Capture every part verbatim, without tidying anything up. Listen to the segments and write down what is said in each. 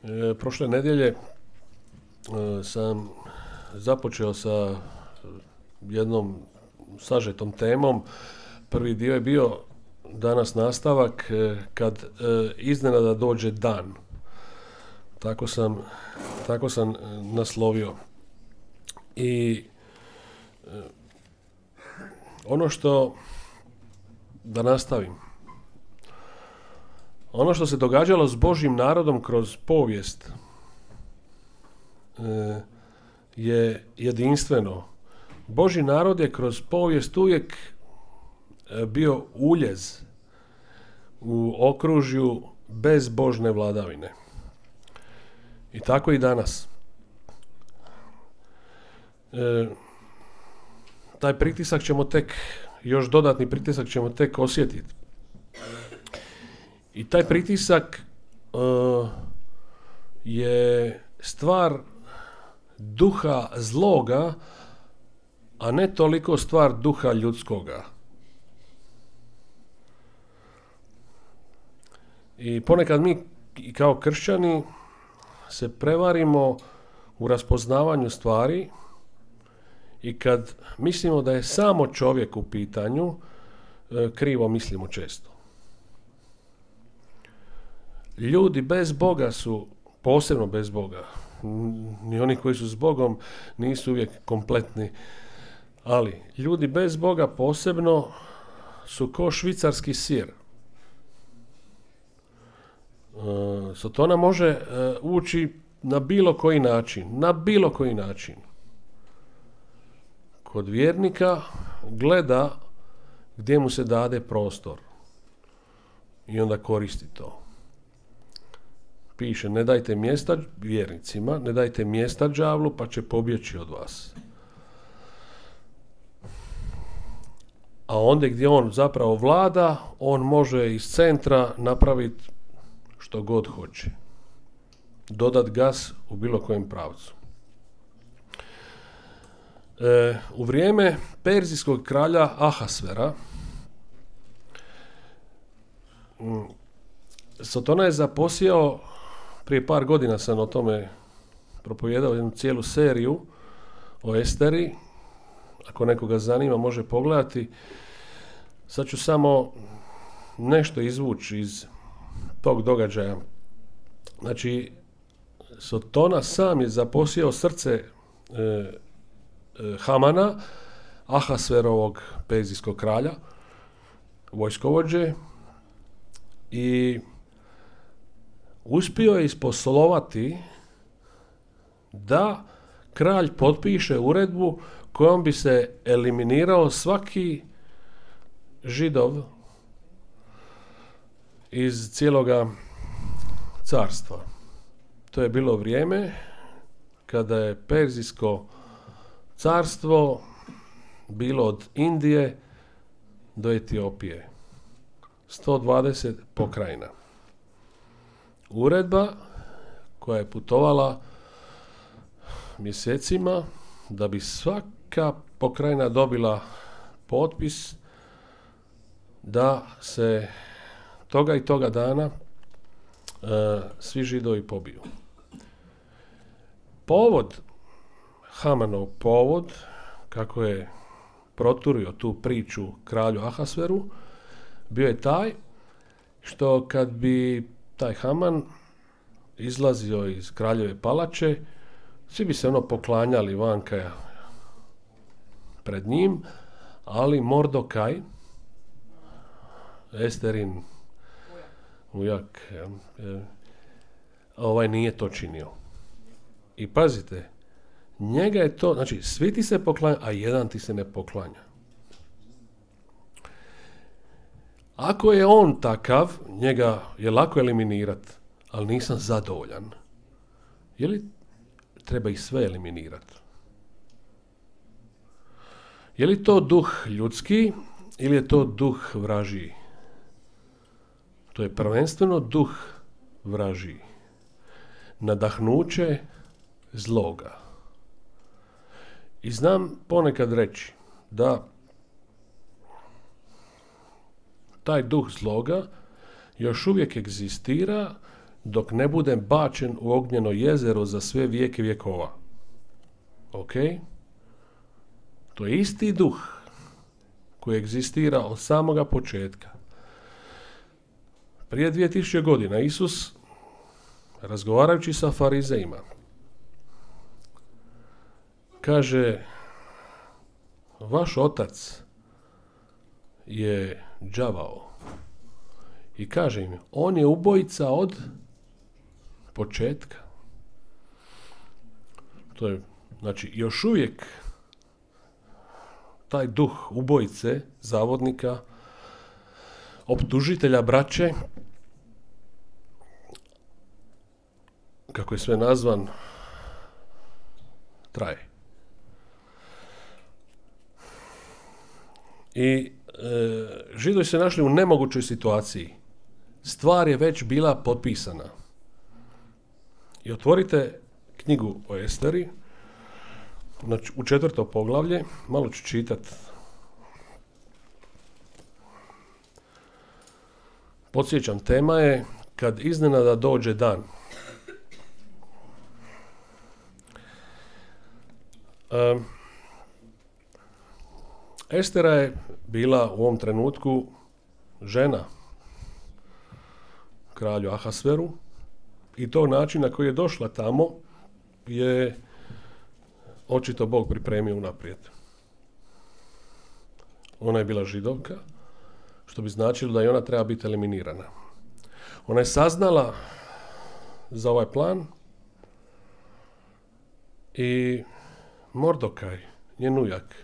E, prošle nedjelje e, sam započeo sa jednom sažetom temom. Prvi dio je bio danas nastavak e, kad e, iznenada dođe dan. Tako sam, tako sam naslovio. I e, ono što, da nastavim, ono što se događalo s Božjim narodom kroz povijest e, je jedinstveno. Božji narod je kroz povijest uvijek e, bio uljez u okružju bezbožne vladavine. I tako i danas. E, taj pritisak ćemo tek, još dodatni pritisak ćemo tek osjetiti. I taj pritisak uh, je stvar duha zloga, a ne toliko stvar duha ljudskoga. I ponekad mi kao kršćani se prevarimo u raspoznavanju stvari i kad mislimo da je samo čovjek u pitanju, krivo mislimo često. Ljudi bez Boga su, posebno bez Boga, ni oni koji su s Bogom nisu uvijek kompletni, ali ljudi bez Boga posebno su ko švicarski sir. Sotona može ući na bilo koji način, na bilo koji način. Kod vjernika gleda gdje mu se dade prostor i onda koristi to. Piše, ne dajte mjesta vjernicima, ne dajte mjesta đavlu, pa će pobjeći od vas. A onda gdje on zapravo vlada, on može iz centra napraviti što god hoće. Dodat gas u bilo kojem pravcu. E, u vrijeme perzijskog kralja Ahasvera Sotona je zaposjeo, prije par godina sam o tome propovijedao jednu cijelu seriju o Esteri. Ako nekoga zanima, može pogledati. Sad ću samo nešto izvući iz tog događaja. Znači, Sotona sam je zaposjeo srce e, e, Hamana, Ahasverovog perzijskog kralja, vojskovođe, i uspio je isposlovati da kralj potpiše uredbu kojom bi se eliminirao svaki Židov iz cijeloga carstva. To je bilo vrijeme kada je Perzijsko carstvo bilo od Indije do Etiopije. sto dvadeset pokrajina. Uredba koja je putovala mjesecima da bi svaka pokrajina dobila potpis da se toga i toga dana e, svi Židovi pobiju. Povod, Hamanov povod, kako je proturio tu priču kralju Ahasveru, bio je taj što kad bi taj Haman izlazio iz kraljeve palače, svi bi se ono poklanjali vanka pred njim, ali Mordokaj, Esterin ujak, ovaj nije to činio. I pazite, njega je to, znači svi ti se poklanjaju, a jedan ti se ne poklanja. Ako je on takav, njega je lako eliminirati, ali nisam zadovoljan. Je li treba ih sve eliminirati? Je li to duh ljudski ili je to duh vražiji? To je prvenstveno duh vražiji. Nadahnuće zloga. I znam ponekad reći da taj duh zloga još uvijek egzistira dok ne budem bačen u ognjeno jezero za sve vijeke vjekova. Ok? To je isti duh koji egzistira od samoga početka. Prije dvije tisuće godina Isus, razgovarajući sa farizejima, kaže, vaš otac je đavao. I kaže im, on je ubojica od početka. To je, znači, još uvijek taj duh ubojice, zavodnika, optužitelja braće, kako je sve nazvan, traje. I e, Židovi se našli u nemogućoj situaciji. Stvar je već bila potpisana. I otvorite knjigu o Esteri, znači u četvrto poglavlje, malo ću čitati. Podsjećam, tema je kad iznenada dođe dan. Um, Estera je bila u ovom trenutku žena kralju Ahasveru i to način na koji je došla tamo je očito Bog pripremio unaprijed. Ona je bila Židovka, što bi značilo da i ona treba biti eliminirana. Ona je saznala za ovaj plan i Mordokaj, njen ujak,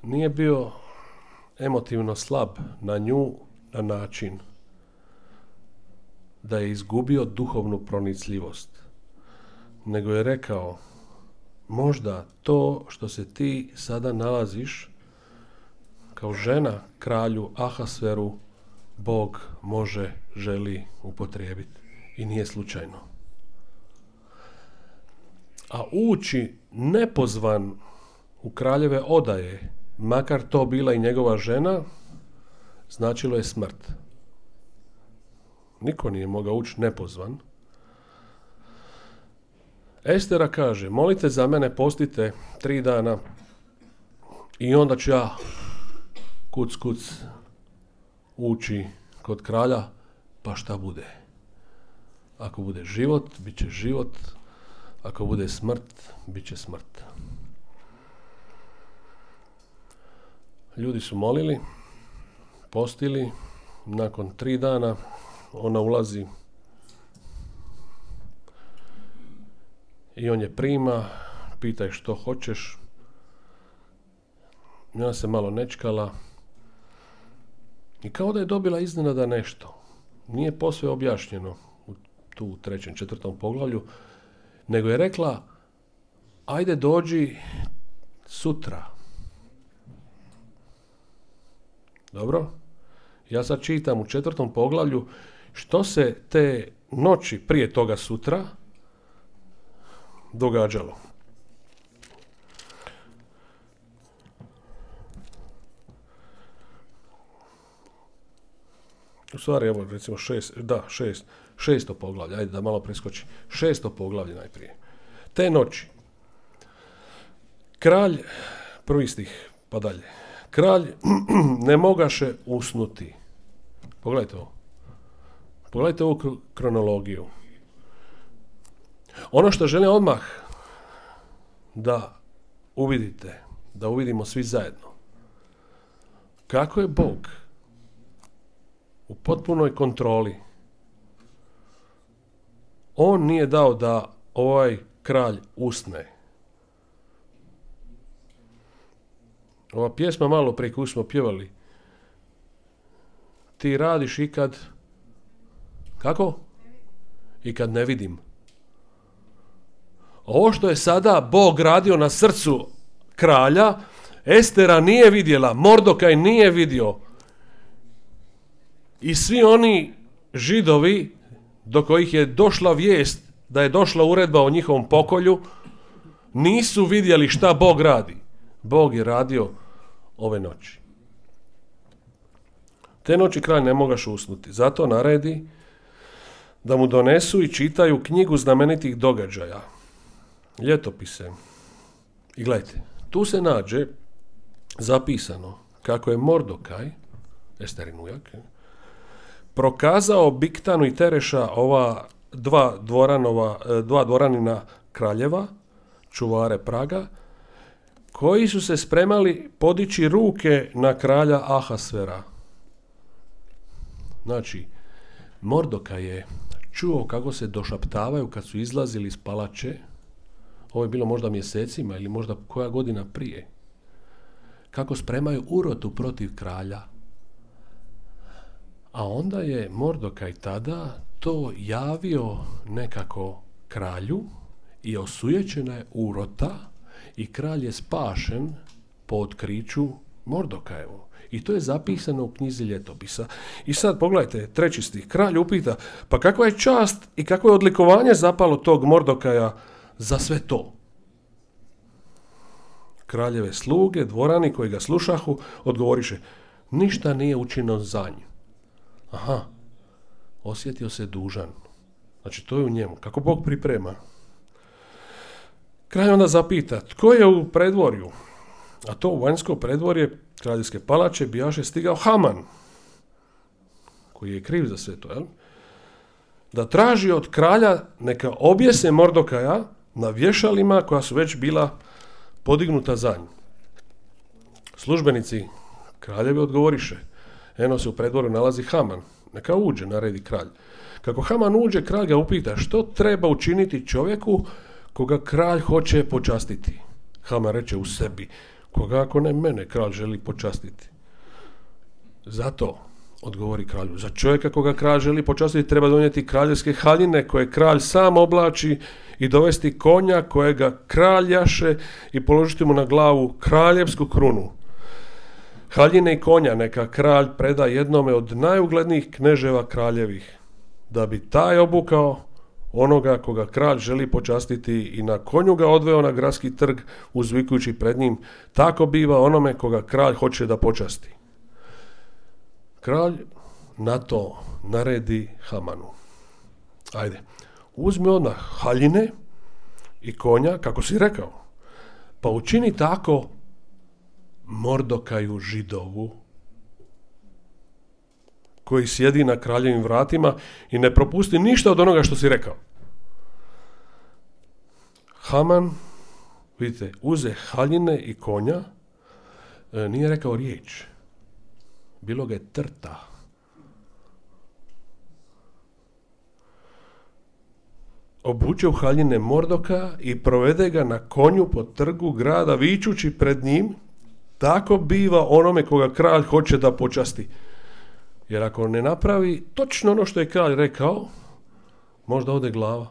nije bio emotivno slab na nju na način da je izgubio duhovnu pronicljivost, nego je rekao, možda to što se ti sada nalaziš kao žena kralju Ahasveru, Bog može, želi upotrijebiti i nije slučajno. A ući nepozvan u kraljeve odaje, makar to bila i njegova žena, značilo je smrt. Niko nije mogao ući nepozvan. Estera kaže, molite za mene, postite tri dana i onda ću ja kuc kuc ući kod kralja, pa šta bude. Ako bude život, bit će život. Ako bude smrt, bit će smrt. Ljudi su molili, postili, nakon tri dana ona ulazi i on je prima, pita je što hoćeš. I ona se malo nečkala i kao da je dobila iznenada nešto. Nije posve objašnjeno u tu u trećem, četvrtom poglavlju, nego je rekla, ajde dođi sutra. Dobro? Ja sad čitam u četvrtom poglavlju što se te noći prije toga sutra događalo. U stvari, evo, recimo šest, da, šest, šesto poglavlje, ajde da malo preskoči. Šesto poglavlje najprije. Te noći, kralj, prvi stih, pa dalje, kralj ne mogaše usnuti. Pogledajte ovo. Pogledajte ovu kronologiju. Ono što želim odmah da uvidite, da uvidimo svi zajedno, kako je Bog u potpunoj kontroli. On nije dao da ovaj kralj usne. Ova pjesma malo prije koju smo pjevali, ti radiš i kad, kako? I kad ne vidim. Ovo što je sada Bog radio na srcu kralja, Estera nije vidjela, Mordokaj nije vidio. I svi oni Židovi do kojih je došla vijest da je došla uredba o njihovom pokolju, nisu vidjeli šta Bog radi. Bog je radio ove noći. Te noći kralj ne mogaš usnuti, zato naredi da mu donesu i čitaju knjigu znamenitih događaja, ljetopise. I gledajte, tu se nađe zapisano kako je Mordokaj, Esterin ujak, prokazao Biktanu i Tereša, ova dva, dvoranova, dva dvoranina kraljeva, čuvare praga, koji su se spremali podići ruke na kralja Ahasvera. Znači, Mordokaj je čuo kako se došaptavaju kad su izlazili iz palače. Ovo je bilo možda mjesecima ili možda koja godina prije. Kako spremaju urotu protiv kralja. A onda je Mordokaj tada to javio nekako kralju i osujećena je urota i kralj je spašen po otkriću Mordokajevu. I to je zapisano u knjizi ljetopisa. I sad pogledajte, treći stih. Kralj upita, pa kakva je čast i kakvo je odlikovanje zapalo tog Mordokaja za sve to? Kraljeve sluge, dvorani koji ga slušahu, odgovoriše, ništa nije učinjeno za nju. Aha, osjetio se dužan. Znači, to je u njemu. Kako Bog priprema. Kralj onda zapita, tko je u predvorju? A to u vanjsko predvorje kraljevske palače bijaše stigao Haman, koji je kriv za sve to, jel? Da traži od kralja neka objese Mordokaja na vješalima koja su već bila podignuta za nju. Službenici kraljevi odgovoriše, eno se u predvorju nalazi Haman, neka uđe, naredi kralj. Kako Haman uđe, kralj ga upita što treba učiniti čovjeku koga kralj hoće počastiti. Haman reče u sebi, koga ako ne mene kralj želi počastiti. Zato, odgovori kralju, za čovjeka koga kralj želi počastiti treba donijeti kraljevske haljine koje kralj sam oblači i dovesti konja kojega kralj jaše i položiti mu na glavu kraljevsku krunu. Haljine i konja neka kralj preda jednome od najuglednijih kneževa kraljevih, da bi taj obukao onoga koga kralj želi počastiti i na konju ga odveo na gradski trg uzvikujući pred njim, tako biva onome koga kralj hoće da počasti. Kralj na to naredi Hamanu. Ajde, uzmi odmah haljine i konja, kako si rekao, pa učini tako Mordokaju Židovu, koji sjedi na kraljevim vratima i ne propusti ništa od onoga što si rekao. Haman, vidite, uze haljine i konja, e, nije rekao riječ. Bilo ga je trta. Obuče u haljine Mordoka i provede ga na konju po trgu grada, vičući pred njim, tako biva onome koga kralj hoće da počasti. Jer ako ne napravi točno ono što je kralj rekao, možda ode glava.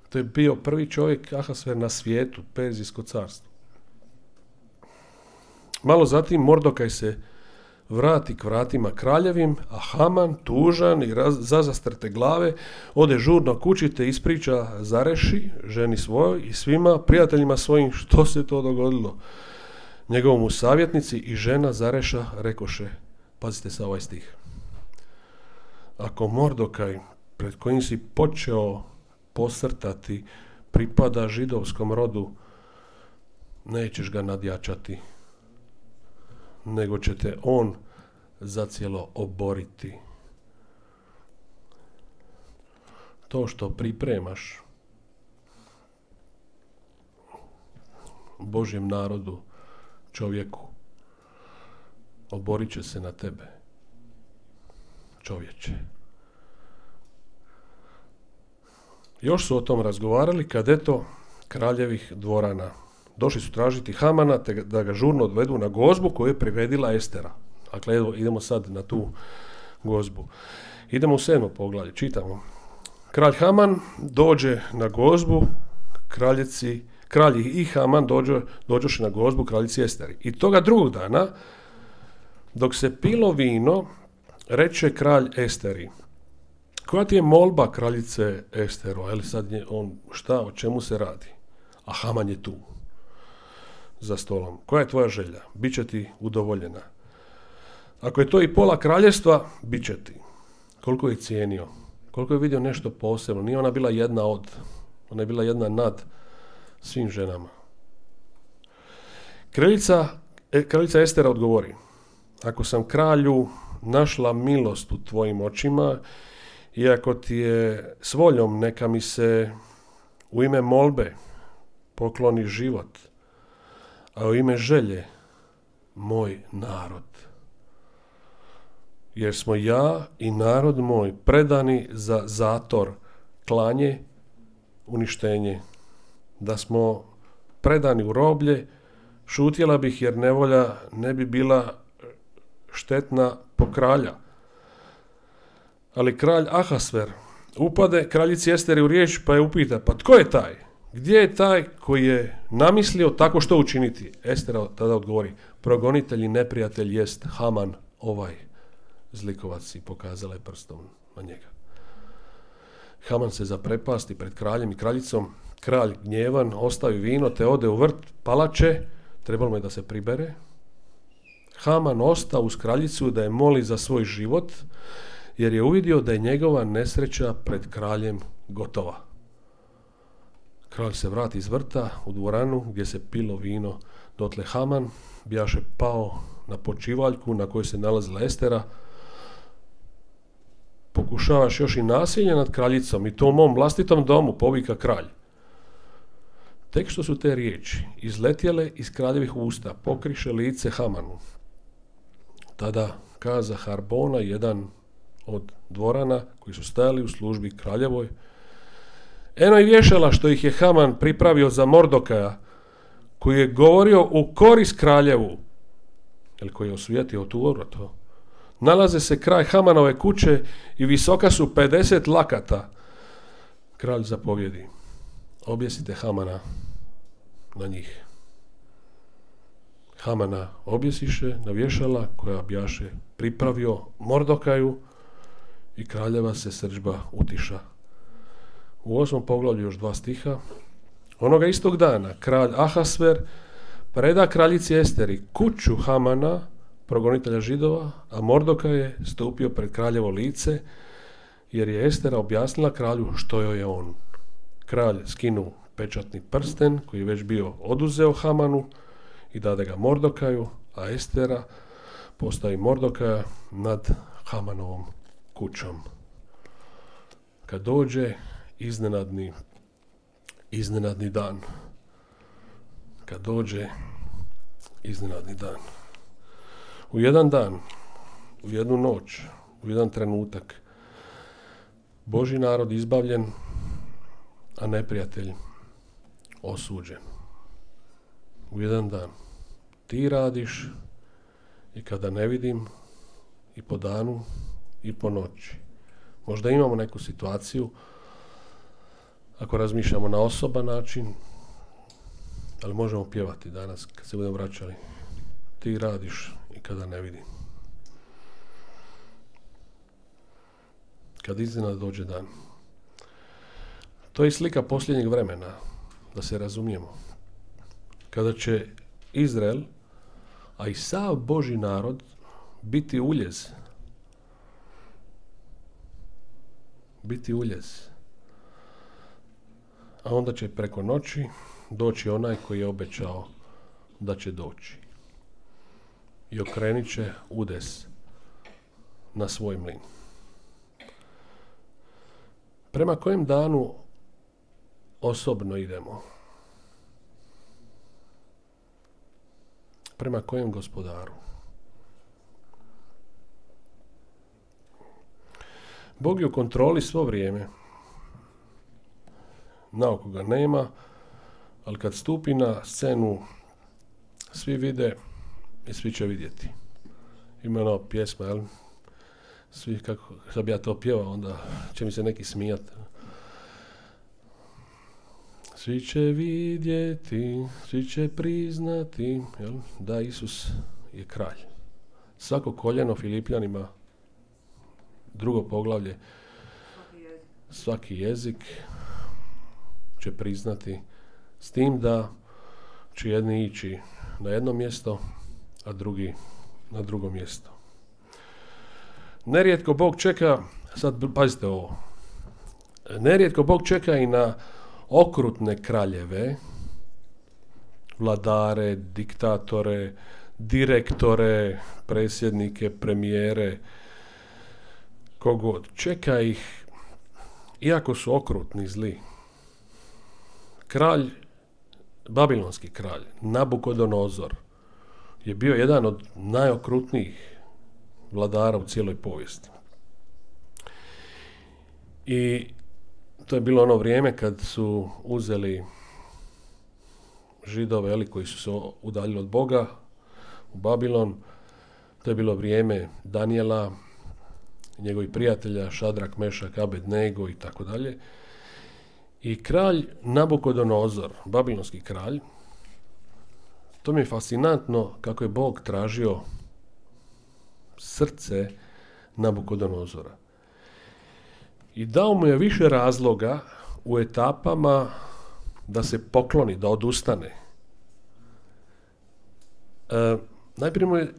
To je bio prvi čovjek Ahasver na svijetu, Perzijsko carstvo. Malo zatim Mordokaj se vrati k vratima kraljevim, a Haman, tužan i raz, zazastrte glave, ode žurno kući te ispriča Zareši, ženi svojoj i svima prijateljima svojim što se to dogodilo. Njegovomu savjetnici i žena Zareša rekoše, pazite sa ovaj stih, ako Mordokaj, pred kojim si počeo posrtati, pripada židovskom rodu, nećeš ga nadjačati, nego će te on zacijelo oboriti. To što pripremaš Božjem narodu, čovjeku, oborit će se na tebe, čovječe. Još su o tom razgovarali kad eto kraljevih dvorana došli su tražiti Hamana te da ga žurno odvedu na gozbu koju je priredila Estera. Dakle, evo, idemo sad na tu gozbu. Idemo u sedmo poglavlje, čitamo. Kralj Haman dođe na gozbu kraljici, kralj i Haman dođe, dođoše na gozbu kraljici Esteri. I toga drugog dana, dok se pilo vino, reče kralj Esteri, koja ti je molba kraljice Esteru? Ali sad je on, šta, o čemu se radi? A Haman je tu. za stolom. Koja je tvoja želja? Biće ti udovoljena. Ako je to i pola kraljevstva, bit će ti. Koliko je cijenio? Koliko je vidio nešto posebno? Nije ona bila jedna od. Ona je bila jedna nad svim ženama. Kraljica, kraljica Estera odgovori: ako sam kralju našla milost u tvojim očima, i ako ti je s voljom, neka mi se u ime molbe pokloni život, a u ime želje moj narod. Jer smo ja i narod moj predani za zator, klanje, uništenje. Da smo predani u roblje, šutjela bih, jer nevolja ne bi bila štetna po kralja. Ali kralj Ahasver upade kraljici Esteri u riječ, pa je upita: pa tko je taj? Gdje je taj koji je namislio tako što učiniti? Estera tada odgovori: progonitelj i neprijatelj jest Haman, ovaj zlikovac, i pokazala je prstom na njega. Haman se zaprepasti pred kraljem i kraljicom. Kralj gnjevan ostavi vino te ode u vrt palače, trebalo mu je da se pribere. Haman osta uz kraljicu da je moli za svoj život, jer je uvidio da je njegova nesreća pred kraljem gotova. Kralj se vrati iz vrta u dvoranu gdje se pilo vino. Dotle Haman bijaše pao na počivaljku na kojoj se nalazila Estera. Pokušavaš još i nasilje nad kraljicom, i to u mom vlastitom domu, povika kralj. Tek što su te riječi izletjele iz kraljevih usta, pokriše lice Hamanu. Tada kaza Harbona, jedan od dvorana koji su stajali u službi kraljevoj: eno i vješala što ih je Haman pripravio za Mordokaja, koji je govorio u korist kraljevu, ili koji je osvijetio tu to. Nalaze se kraj Hamanove kuće i visoka su pedeset lakata. Kralj zapovjedi: objesite Hamana na njih. Hamana objesiše na vješala koja bjaše pripravio Mordokaju, i kraljeva se srdžba utiša. U osmom poglavlju još dva stiha. Onoga istog dana kralj Ahasver preda kraljici Esteri kuću Hamana, progonitelja Židova, a Mordokaj je stupio pred kraljevo lice, jer je Estera objasnila kralju što joj je on. Kralj skinu pečatni prsten koji je već bio oduzeo Hamanu i dade ga Mordokaju, a Estera postavi Mordokaja nad Hamanovom kućom. Kad dođe iznenadni, iznenadni dan, kad dođe iznenadni dan, u jedan dan, u jednu noć, u jedan trenutak, Božji narod izbavljen, a neprijatelj osuđen. U jedan dan ti radiš, i kada ne vidim, i po danu i po noći. Možda imamo neku situaciju, ako razmišljamo na osoban način, ali možemo pjevati danas kad se budemo vraćali: ti radiš i kada ne vidim. Kad iznenada dođe dan. To je slika posljednjeg vremena, da se razumijemo. Kada će Izrael, a i sav Božji narod, biti uljez. Biti uljez. A onda će preko noći doći onaj koji je obećao da će doći. I okrenit će udes na svoj mlin. Prema kojem danu osobno idemo? Prema kojem gospodaru? Bog je u kontroli svo vrijeme. Naoko ga nema, ali kad stupi na scenu, svi vide i svi će vidjeti. Ima ono pjesma, jel? Svi, kako, kad bi ja to pjevao, onda će mi se neki smijati. Svi će vidjeti, svi će priznati, jel? Da Isus je kralj. Svako koljeno Filipljanima, drugo poglavlje, svaki jezik. svaki jezik će priznati, s tim da će jedni ići na jedno mjesto, a drugi na drugo mjesto. Nerijetko Bog čeka, sad pazite ovo, nerijetko Bog čeka i na okrutne kraljeve, vladare, diktatore, direktore, predsjednike, premijere, kogod. Čeka ih, iako su okrutni, zli. Kralj, babilonski kralj, Nabukodonozor, je bio jedan od najokrutnijih vladara u cijeloj povijesti. I to je bilo ono vrijeme kad su uzeli Židove, eli, koji su se udaljili od Boga u Babilon. To je bilo vrijeme Danijela, njegovih prijatelja Šadrak, Mešak, Abednego i tako dalje. I kralj Nabukodonozor, babilonski kralj, to mi je fascinantno kako je Bog tražio srce Nabukodonozora. I dao mu je više razloga u etapama da se pokloni, da odustane. E, najprije mu je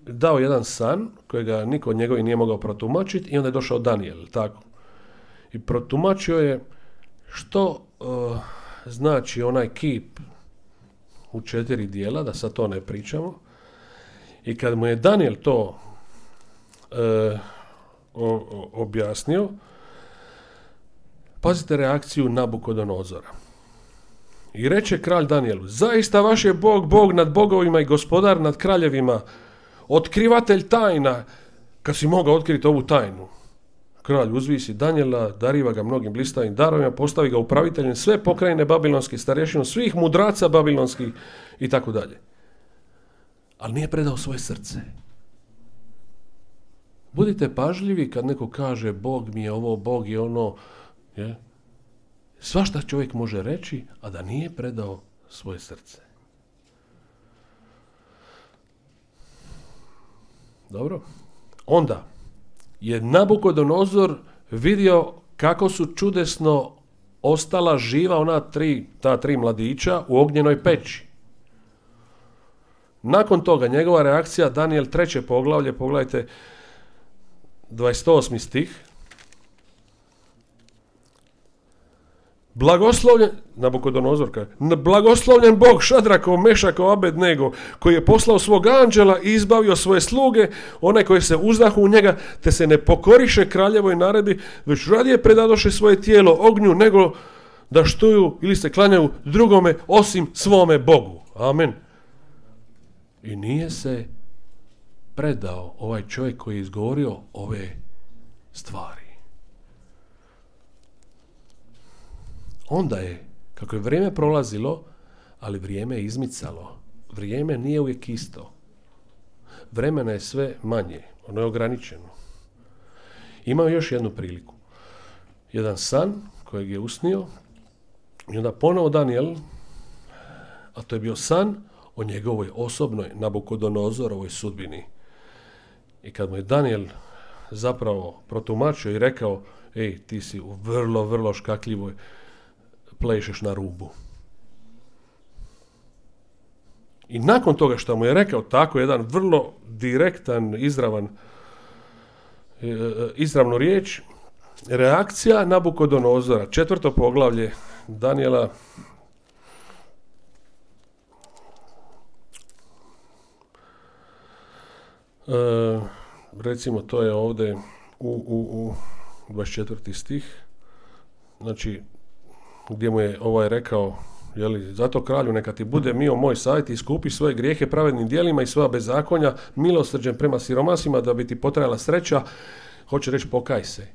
dao jedan san kojega niko od njegovi nije mogao protumačiti i onda je došao Danijel, tako. I protumačio je što e, znači onaj kip u četiri dijela, da sad to ne pričamo. I kad mu je Danijel to e, o, o, objasnio, pazite reakciju Nabukodonozora. I reče kralj Danijelu, zaista vaš je Bog, Bog nad bogovima i gospodar nad kraljevima, otkrivatelj tajna, kad si mogao otkriti ovu tajnu. Kralj uzvisi Danijela, dariva ga mnogim blistavim darovima, postavi ga upraviteljem sve pokrajine babilonske, starješinu svih mudraca babilonskih i tako dalje. Ali nije predao svoje srce. Budite pažljivi kad neko kaže Bog mi je ovo, Bog je ono, je? Svašta čovjek može reći, a da nije predao svoje srce. Dobro? Onda je Nabukodonozor vidio kako su čudesno ostala živa ona tri, ta tri mladića u ognjenoj peći. Nakon toga njegova reakcija, Danijel treće poglavlje, pogledajte dvadeset osmi stih. Blagoslovljen, Nabukodonozor kaže, blagoslovljen Bog Šadrakov, Mešakov, Abednego, koji je poslao svog anđela i izbavio svoje sluge, onaj koji se uzdahu u njega, te se ne pokoriše kraljevoj naredbi, već radije predadoše svoje tijelo ognju, nego da štuju ili se klanjaju drugome osim svome Bogu. Amen. I nije se predao ovaj čovjek koji je izgovorio ove stvari. Onda je, kako je vrijeme prolazilo, ali vrijeme je izmicalo. Vrijeme nije uvijek isto. Vremena je sve manje, ono je ograničeno. Imao još jednu priliku. Jedan san kojeg je usnio i onda ponovo Danijel, a to je bio san o njegovoj osobnoj Nabukodonozorovoj sudbini. I kad mu je Danijel zapravo protumačio i rekao, ej, ti si u vrlo, vrlo škakljivoj, plešeš na rubu. I nakon toga što mu je rekao tako jedan vrlo direktan, izravan, izravnu riječ, reakcija Nabukodonozora, četvrto poglavlje Danijela, e, recimo to je ovdje u, u, u dvadeset četvrti stih, znači gdje mu je ovaj rekao, jeli, zato kralju neka ti bude mio moj savjet i iskupi svoje grijehe pravednim djelima i svoja bezakonja milosrđem prema siromasima da bi ti potrajala sreća, hoće reći pokaj se.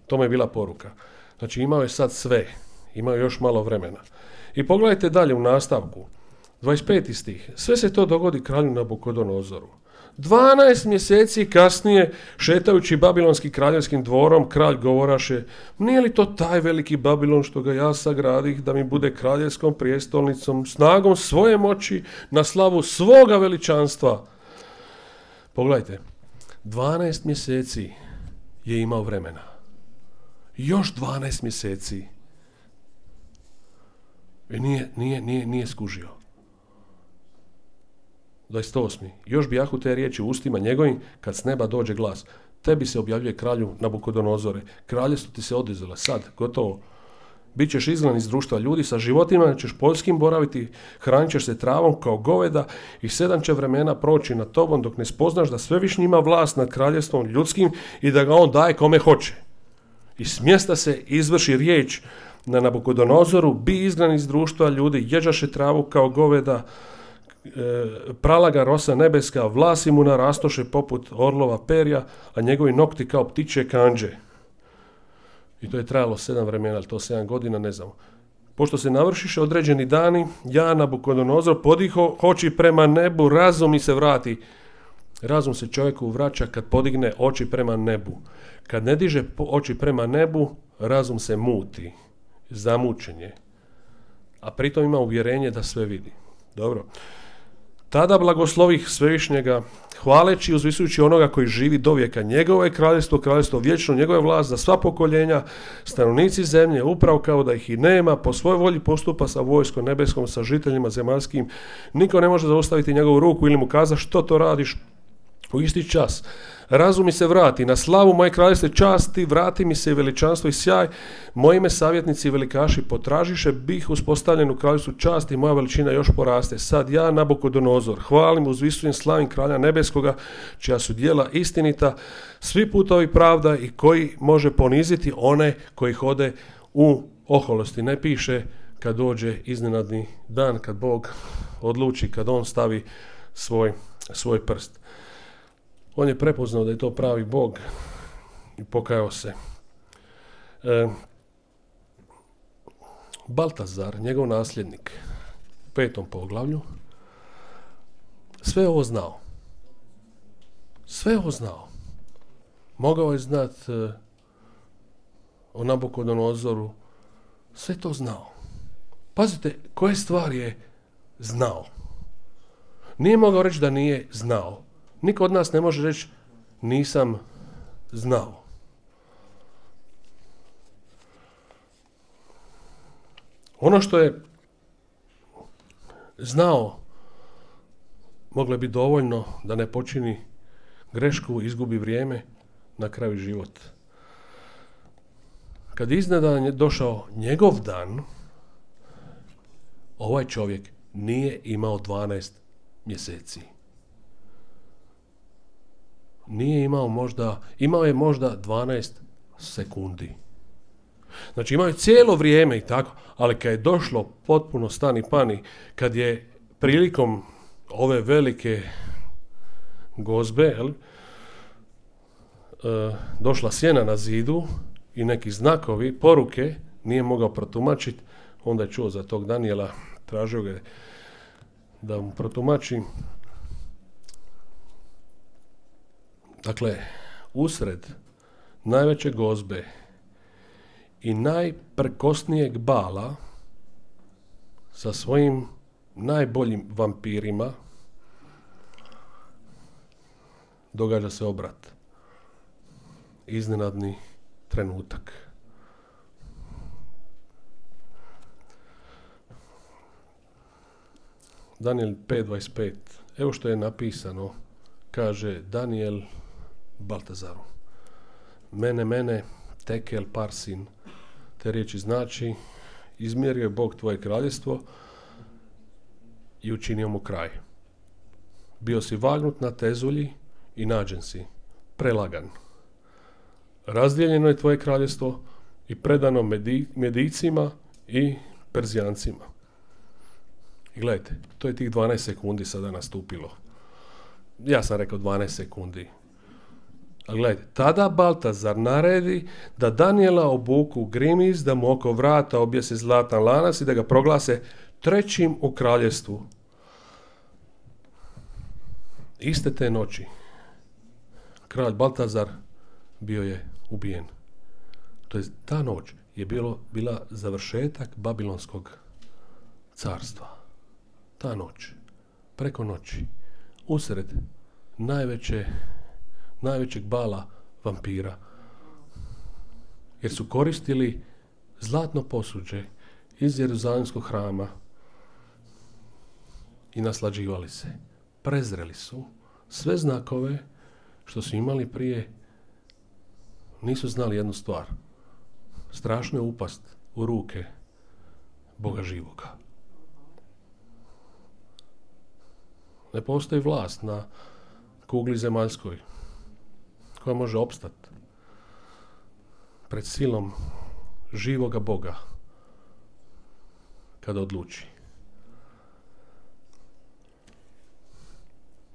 To mu je bila poruka. Znači imao je sad sve, imao je još malo vremena. I pogledajte dalje u nastavku, dvadeset peti stih, sve se to dogodi kralju Nabukodonozoru. Dvanaest mjeseci kasnije, šetajući babilonskim kraljevskim dvorom, kralj govoraše, nije li to taj veliki Babilon što ga ja sagradih da mi bude kraljevskom prijestolnicom, snagom svoje moći, na slavu svoga veličanstva. Pogledajte, dvanaest mjeseci je imao vremena. Još dvanaest mjeseci. I nije, nije, nije, nije skužio. dvadeset osmi Još bijahu te riječi u ustima njegovim, kad s neba dođe glas. Tebi se objavljuje kralju Nabukodonozore. Kraljevstvo ti se oduzelo. Sad, gotovo. Bićeš izgnan iz društva ljudi, sa životima ćeš poljskim boraviti, hranit ćeš se travom kao goveda i sedam će vremena proći nad tobom dok ne spoznaš da Svevišnji ima vlast nad kraljevstvom ljudskim i da ga on daje kome hoće. I s mjesta se izvrši riječ na Nabukodonozoru, bi izgnan iz društva ljudi, jeđaše travu kao goveda, e, pralaga rosa nebeska, vlasi mu narastoše poput orlova perja, a njegovi nokti kao ptičje kanđe. I to je trajalo sedam vremena, ali to sedam godina, ne znam. Pošto se navršiše određeni dani, ja, Nabukodonozor, podiho oči prema nebu, razum mi se vrati. Razum se čovjeku vraća kad podigne oči prema nebu. Kad ne diže oči prema nebu, razum se muti, zamučen je. A pritom ima uvjerenje da sve vidi. Dobro. Tada blagoslovih Svevišnjega, hvaleći i uzvisujući onoga koji živi do vijeka. Njegovo je kraljevstvo, kraljevstvo vječno, njegova je vlast za sva pokoljenja, stanovnici zemlje, upravo kao da ih i nema, po svojoj volji postupa sa vojskom nebeskom, sa žiteljima zemaljskim. Niko ne može zaustaviti njegovu ruku ili mu kaza što to radiš u isti čas. Razum mi se vrati, na slavu moje kraljevstva časti, vrati mi se i veličanstvo i sjaj, moji me savjetnici i velikaši potražiše, bih uspostavljen u kraljevstvu časti, moja veličina još poraste. Sad ja, Nabukodonozor, hvalim, uzvisujem, slavim kralja nebeskoga, čija su djela istinita, svi putovi pravda i koji može poniziti one koji hode u oholosti. Ne piše kad dođe iznenadni dan, kad Bog odluči, kad on stavi svoj, svoj prst. On je prepoznao da je to pravi Bog i pokajao se. E, Baltazar, njegov nasljednik, u petom poglavlju, sve ovo znao. Sve ovo znao. Mogao je znat e, o Nabukodonozoru, sve to znao. Pazite, koje stvari je znao. Nije mogao reći da nije znao. Niko od nas ne može reći nisam znao. Ono što je znao moglo je biti dovoljno da ne počini grešku, izgubi vrijeme, na kraju život. Kad iznenada je došao njegov dan, ovaj čovjek nije imao dvanaest mjeseci. Nije imao možda, imao je možda dvanaest sekundi. Znači imao je cijelo vrijeme i tako, ali kad je došlo potpuno stani pani, kad je prilikom ove velike gozbe, jel, e, došla sjena na zidu i neki znakovi, poruke, nije mogao protumačiti, onda je čuo za tog Danijela, tražio ga da mu protumači. Dakle, usred najveće gozbe i najprkosnijeg bala sa svojim najboljim vampirima događa se obrat. Iznenadni trenutak. Danijel pet dvadeset pet. Evo što je napisano. Kaže Danijel Baltazaru. Mene, mene, tekel parsin. Te riječi znači, izmjerio je Bog tvoje kraljevstvo i učinio mu kraj. Bio si vagnut na tezulji i nađen si, prelagan. Razdijeljeno je tvoje kraljevstvo i predano Medi, Medijcima i Perzijancima. I gledajte, to je tih dvanaest sekundi sada nastupilo. Ja sam rekao dvanaest sekundi. A gledajte, tada Baltazar naredi da Danijela obuku grimiz, da mu oko vrata objese zlatan lanac i da ga proglase trećim u kraljevstvu. Iste te noći kralj Baltazar bio je ubijen. To je ta noć je bilo, bila završetak Babilonskog carstva. Ta noć, preko noći, usred najveće, najvećeg bala vampira. Jer su koristili zlatno posuđe iz Jeruzalemskog hrama i naslađivali se. prezreli su sve znakove što su imali prije, nisu znali jednu stvar. Strašno je upast u ruke Boga živoga. Ne postoji vlast na kugli zemaljskoj koja može opstati pred silom živoga Boga kada odluči.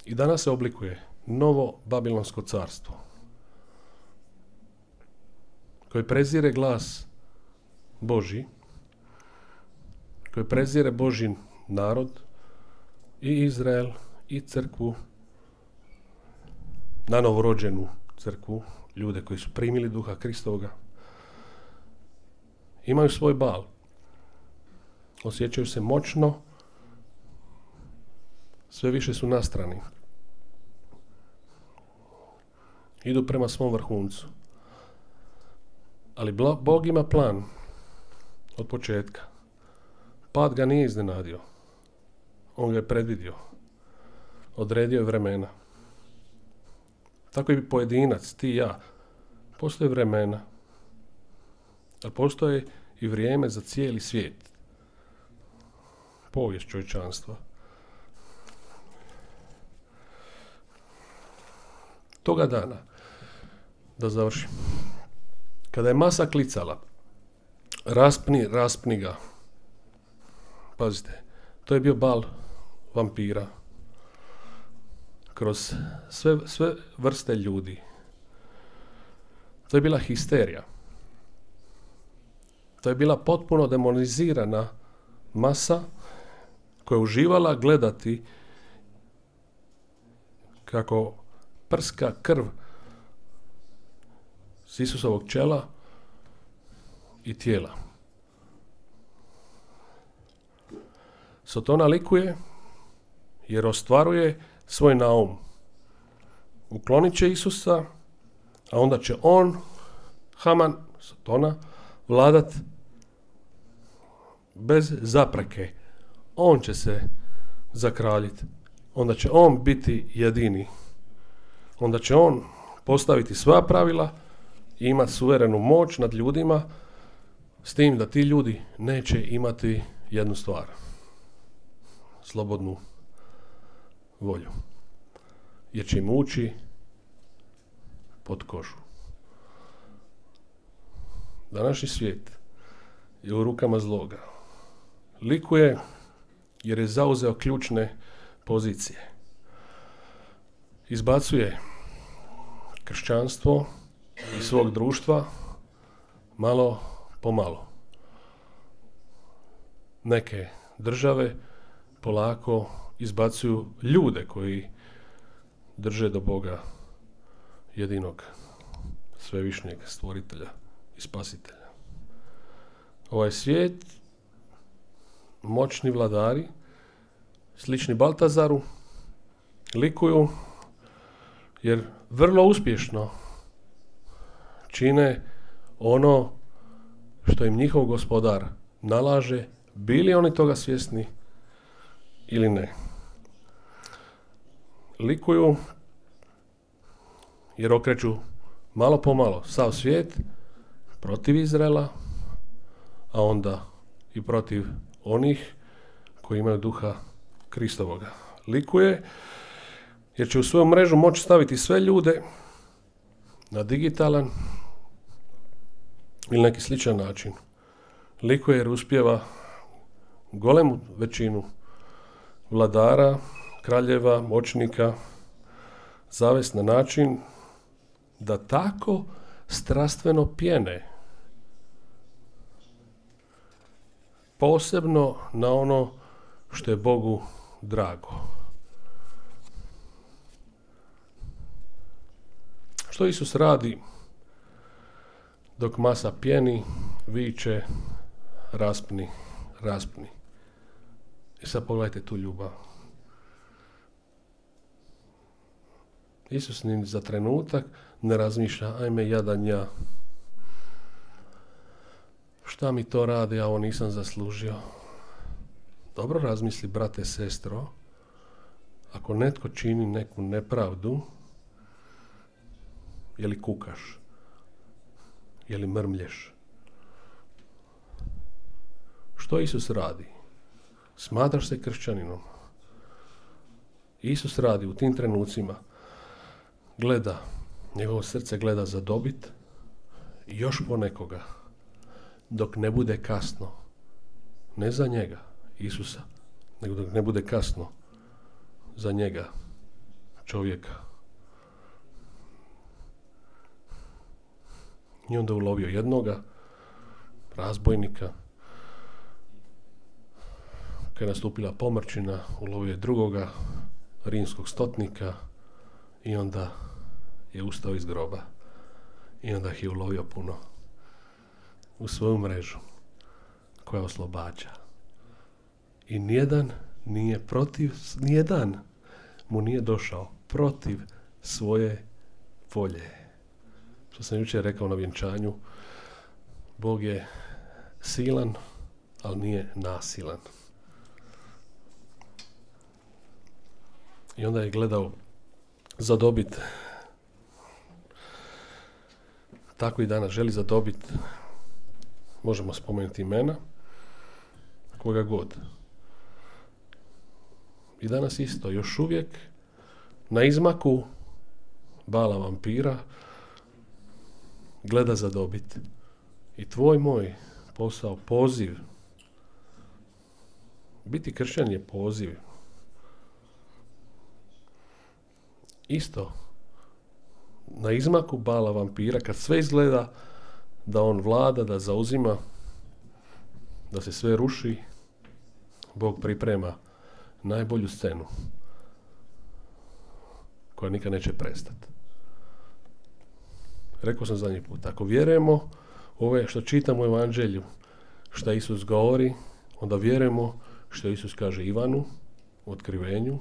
I danas se oblikuje novo Babilonsko carstvo koje prezire glas Božji, koje prezire Božji narod i Izrael i crkvu, na novorođenu crkvu, ljude koji su primili duha Kristovoga. Imaju svoj bal. Osjećaju se moćno, sve više su nastrani. Idu prema svom vrhuncu. Ali Bog ima plan od početka. Pad ga nije iznenadio. On ga je predvidio. Odredio je vremena. Tako i pojedinac, ti i ja. Postoje vremena. Ali postoje i vrijeme za cijeli svijet. Povijest čovječanstva. Toga dana, da završim, kada je masa klicala, raspni, raspni ga. Pazite, to je bio bal vampira. Kroz sve, sve vrste ljudi. To je bila histerija. To je bila potpuno demonizirana masa koja je uživala gledati kako prska krv s Isusovog čela i tijela. Sotona likuje jer ostvaruje svoj naum. Uklonit će Isusa, a onda će on, Haman, Sotona, vladat bez zapreke. On će se zakraljiti. Onda će on biti jedini. Onda će on postaviti sva pravila i imati suverenu moć nad ljudima, s tim da ti ljudi neće imati jednu stvar. Slobodnu volju. Jer će im ući pod kožu. Današnji svijet je u rukama zloga. Likuje jer je zauzeo ključne pozicije. Izbacuje kršćanstvo iz svog društva malo po malo. Neke države polako izbacuju ljude koji drže do Boga jedinog svevišnjeg stvoritelja i spasitelja. Ovaj svijet, moćni vladari, slični Baltazaru, likuju jer vrlo uspješno čine ono što im njihov gospodar nalaže, bili oni toga svjesni ili ne. Likuju jer okreću malo po malo sav svijet protiv Izraela, a onda i protiv onih koji imaju duha Kristovoga. Likuje jer će u svoju mrežu moći staviti sve ljude na digitalan ili neki sličan način. Likuje jer uspijeva golemu većinu vladara, kraljeva, moćnika zavest na način da tako strastveno pjene, posebno na ono što je Bogu drago. Što Isus radi dok masa pjeni, viče, raspni, raspni. I sad pogledajte tu ljubav. Isus ni za trenutak ne razmišlja, ajme jadan ja. Šta mi to radi, ja ovo nisam zaslužio. Dobro razmisli, brate, sestro, ako netko čini neku nepravdu, je li kukaš? Je li mrmlješ? Što Isus radi? Smatraš se kršćaninom? Isus radi u tim trenucima, gleda, njegovo srce gleda za dobit i još po nekoga, dok ne bude kasno. Ne za njega, Isusa, nego dok ne bude kasno za njega, čovjeka. I onda ulovio jednoga, razbojnika. Kad je nastupila pomrčina, ulovio je drugoga, rimskog stotnika, i onda je ustao iz groba. I onda ih je ulovio puno u svoju mrežu koja oslobađa. I nijedan nije protiv, nijedan mu nije došao protiv svoje volje. Što sam jučer rekao na vjenčanju, Bog je silan, ali nije nasilan. I onda je gledao zadobit. Tako i danas želi zadobit, možemo spomenuti imena, koga god. I danas isto, još uvijek na izmaku bala vampira gleda zadobit. I tvoj moj posao, poziv, biti kršćan je poziv. Isto, na izmaku bala vampira, kad sve izgleda da on vlada, da zauzima, da se sve ruši, Bog priprema najbolju scenu koja nikad neće prestati. Rekao sam zadnji put, ako vjerujemo ove što čitamo u Evanđelju, što Isus govori, onda vjerujemo što Isus kaže Ivanu u otkrivenju,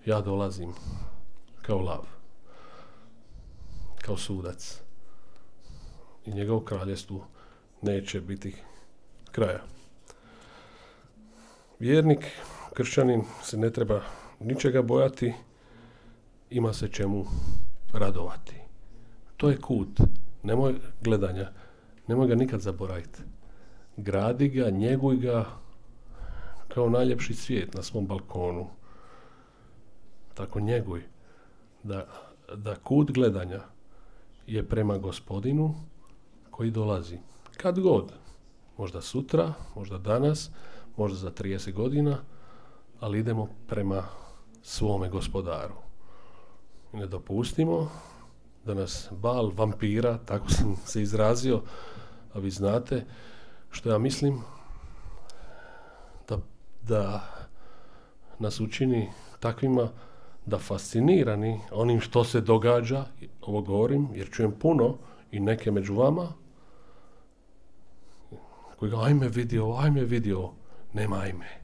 ja dolazim kao lav, kao sudac, i njegovo kraljevstvu neće biti kraja. Vjernik, kršćanin se ne treba ničega bojati, ima se čemu radovati. To je kut, nemoj gledanja, nemoj ga nikad zaboraviti. Gradi ga, njeguj ga kao najljepši cvijet na svom balkonu. Tako njeguj. Da, da kut gledanja je prema Gospodinu koji dolazi. Kad god. Možda sutra, možda danas, možda za trideset godina, ali idemo prema svome Gospodaru. I ne dopustimo da nas bal vampira, tako sam se izrazio, a vi znate što ja mislim, da, da nas učini takvima da fascinirani onim što se događa, ovo govorim jer čujem puno i neke među vama koji ga ajme vidio, ajme vidio, nema ajme.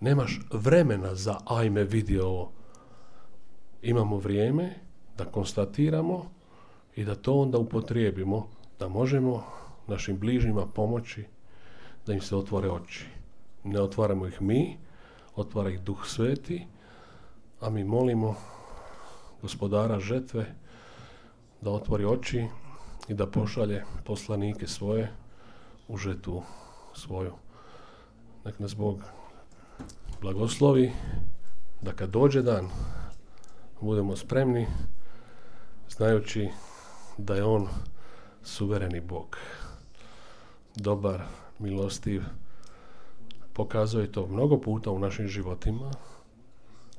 Nemaš vremena za ajme vidio. Imamo vrijeme da konstatiramo i da to onda upotrijebimo, da možemo našim bližnjima pomoći da im se otvore oči. Ne otvaramo ih mi, otvara ih Duh Sveti, a mi molimo Gospodara žetve da otvori oči i da pošalje poslanike svoje u žetvu svoju. Nek nas Bog blagoslovi da kad dođe dan budemo spremni, znajući da je on suvereni Bog. Dobar, milostiv, pokazuje to mnogo puta u našim životima,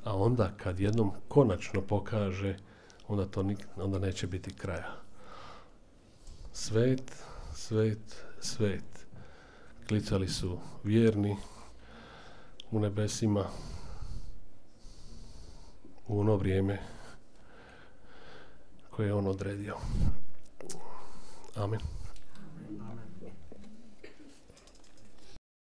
a onda kad jednom konačno pokaže, onda to nik, onda neće biti kraja. Svet, svet, svet. Klicali su vjerni u nebesima u ono vrijeme koje je on odredio. Amen.